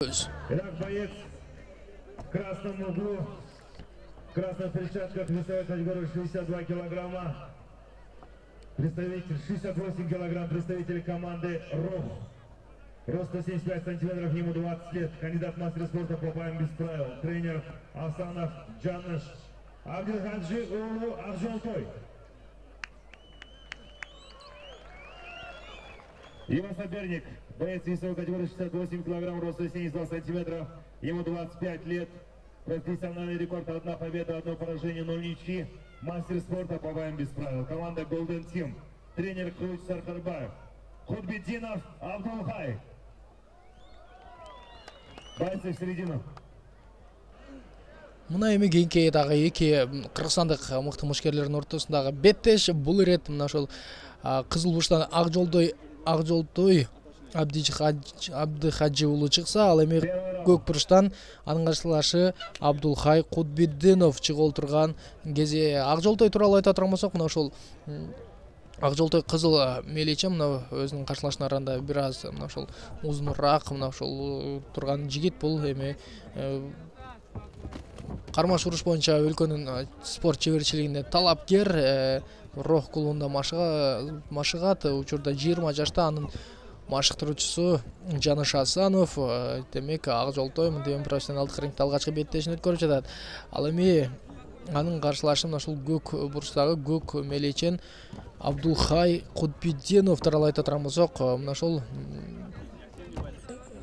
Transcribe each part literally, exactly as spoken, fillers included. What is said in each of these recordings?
Итак, боец в красном углу, в красных перчатках, весовой категории шестьдесят два килограмма, представитель шестьдесят восемь килограмм, представитель команды РОХ. Рост сто семьдесят пять сантиметров, ему двадцать лет, кандидат в мастер спорта по боям без правил, тренер Асанов Джаныш Абдулхаджи Улу Акжолтой. Его соперник, боец весовой категории шестьдесят восемь килограмм, рост сто семьдесят два сантиметра, ему двадцать пять лет, профессиональный рекорд: одна победа, одно поражение, ноль ничьи, мастер спорта по боям без правил, команда Golden Team, тренер Круч Саркарбаев, Худбиддинов Абдулхай. Бойцы в середину. Мына эми кийинки дагы эки кыргызстандык мыкты мушкерлердин ортосундагы беттеш. Бул ирет мына ошол Кызыл Бурчтан Акжолтой Акжолтой Абдыхажы уулу чыкса, ал эми Көк Бурчтан анын каршылашы Абдулхай Кудбиддинов чыгып отурган кези. Акжолтой тууралуу айта турган болсок, мына ошол Акжолтой кызыл меличе, мына өзүнүн каршылашына бир аз мына ошол узунураак мына ошол турган жигит. Бул эми кармаш уруш боюнча өлкөнүн спорт чеберчилигине талапкер, РОХ клубунда машыгат. Учурда жыйырма жашта. Анын машыктыруучусу Жаныш Асанов. Демек Акжолтой мынтип профессионалдык рингде алгачкы беттешин өткөрүп жатат. Ал эми анын каршылашы мына ушул Көк Бурчтагы көк меличен Абдулхай Кудбиддинов тууралуу айта турган болсок, мына ошол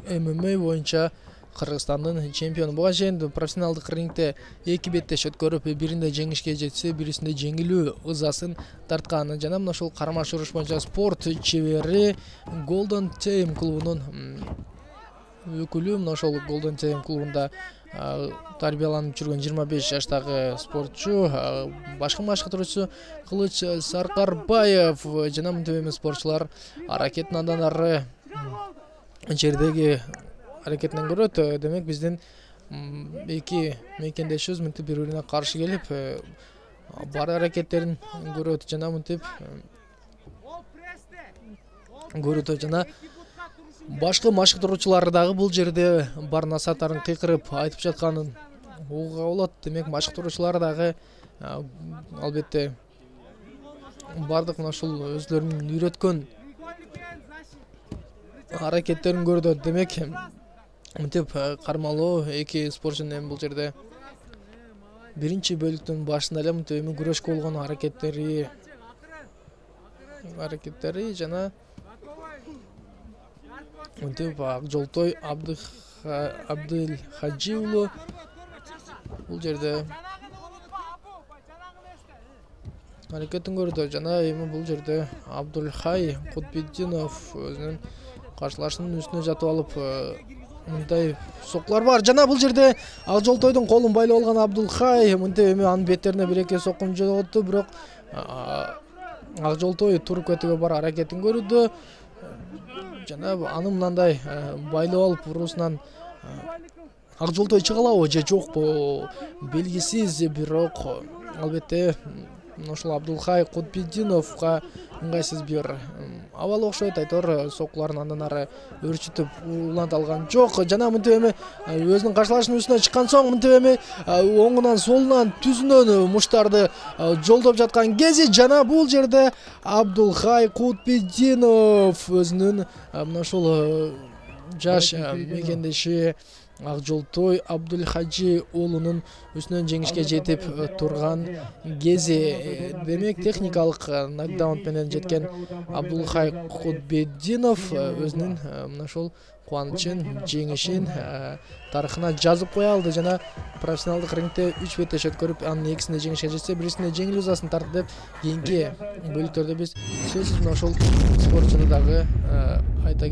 эм эм а боюнча Кыргызстандын чемпиону. Буга чейин профессионалдык рингде эки беттеш өткөрүп, биринде жеңишке жетсе, бирисинде жеңилүү ызасын тарткан. Жана мына ошол кармаш уруш боюнча спорт чебери Golden Team клубунун өкүлү. Мына ошол Golden Team клубунда тарбияланып жүргөн жыйырма беш жаштагы спортчу, башкы машыктыруучусу Кылыч Саркарбаев. Жана мынтип эми спортчулар аракетин андан ары жердеги аракетинен көрөт. Демек биздин эки мекендешибиз мынтип бири бирине каршы келип, бар аракеттерин көрөт жана мынтип көрөт. Жана башкы машыктыруучулар дагы бул жерде бар насааттарын кыйкырып айтып жатканын угууга болот. Демек машыктыруучулар дагы албетте бардык мына ушул өзлөрүнүн үйрөткөн аракеттерин көрдү. Демек мынтип кармалуу эки спортчунун эми бул жерде биринчи бөлүктүн башында эле мынтип эми күрөшкө болгон аракеттери аракеттери жана мынтип Акжолтой Абдылхажы уулу бул жерде аракетин көрдү. Жана эми бул жерде Абдулхай Кудбиддинов өзүнүн каршылашынын үстүнө жатып алып мындай сокулар бар. Жана бул жерде Акжолтойдун колун байлап алган Абдулхай мынтип эми анын беттерине бир эки соккун жоготту, бирок Акжолтой туруп кетүүгө бар аракетин көрдү. Жана аны мындай байлап алып уруусунан Акжолтой чыга алабы же жокпу белгисиз, бирок албетте ошол Абдулхай Кудбиддиновго ыңгайсыз бир абал окшойт. Айтор сокуларын андан ары өрчүтүп уланта алган жок. Жана мынтип эми өзүнүн каршылашынын үстүнө чыккан соң мынтип эми оңунан солунан түзүнөн муштарды жолдоп жаткан кези. Жана бул жерде Абдулхай Кудбиддинов өзүнүн мына ошол жаш мекендеши Акжолтой Абдулхажы уулунун үстүнөн жеңишке жетип турган кези. Демек техникалык нокдаун менен жеткен Абдулхай Кудбиддинов өзүнүн мына ошол кубанычын, жеңишин тарыхына жазып кое алды. Жана профессионалдык рингде үч беттеш өткөрүп, анын экисинде жеңишке жетсе, бирисинде жеңилүү ызасын тартты деп кийинки бөлүктөрдө биз сөзсүз мына ошол спортчуну дагы айта